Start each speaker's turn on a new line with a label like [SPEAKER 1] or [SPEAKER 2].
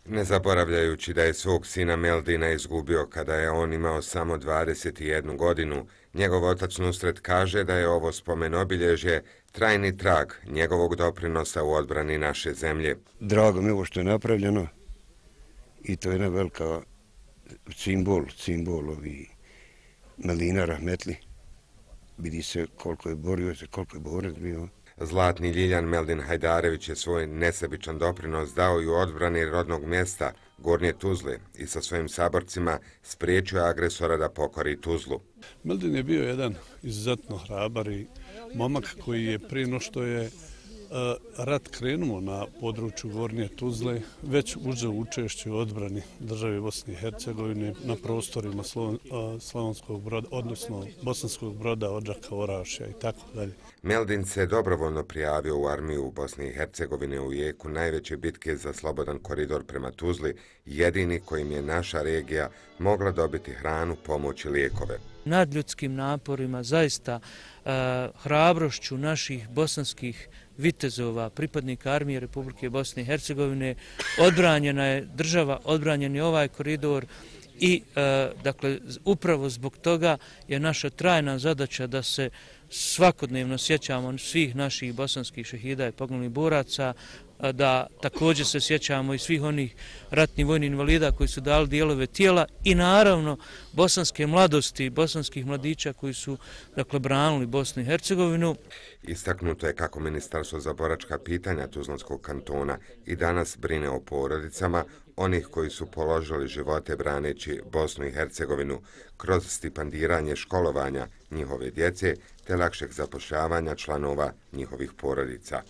[SPEAKER 1] Ne zaboravljajući da je svog sina Meldina izgubio kada je on imao samo 21 godinu, njegov otac Nusret kaže da je ovo spomen-obilježje trajni trag njegovog doprinosa u odbrani naše zemlje.
[SPEAKER 2] Drago mi je ovo što je napravljeno i to je jedna velika simbol ovi Meldina Rahmetli. Vidi se koliko je borio se, koliko je borac bio.
[SPEAKER 1] Zlatni Ljiljan Meldin Hajdarević je svoj nesebičan doprinos dao i u odbrani rodnog mjesta Gornje Tuzle i sa svojim saborcima spriječio agresora da pokori Tuzlu.
[SPEAKER 3] Meldin je bio jedan izuzetno hrabar i momak koji je prije no što je rat krenuo na području Gornje Tuzle već uzeo učešće u odbrani države Bosne i Hercegovine na prostorima Slavonskog Broda, odnosno Bosanskog Broda, Odžaka, Orašja i tako dalje.
[SPEAKER 1] Meldin se dobrovoljno prijavio u armiju u Bosni i Hercegovine u jeku najveće bitke za slobodan koridor prema Tuzli, jedini kojim je naša regija mogla dobiti hranu, pomoć i lijekove.
[SPEAKER 4] Nadljudskim naporima, zaista hrabrošću naših bosanskih vitezova, pripadnika armije Republike Bosne i Hercegovine, odbranjena je država, odbranjen je ovaj koridor i dakle upravo zbog toga je naša trajna zadaća da se svakodnevno sjećamo svih naših bosanskih šehida i poginulih boraca, da također se sjećamo i svih onih ratnih vojnih invalida koji su dali dijelove tijela i naravno bosanske mladosti, bosanskih mladića koji su dakle branili Bosnu i Hercegovinu.
[SPEAKER 1] Istaknuto je kako Ministarstvo za boračka pitanja Tuzlanskog kantona i danas brine o porodicama onih koji su položili živote braneći Bosnu i Hercegovinu kroz stipendiranje školovanja njihove djece te lakšeg zapošljavanja članova njihovih porodica.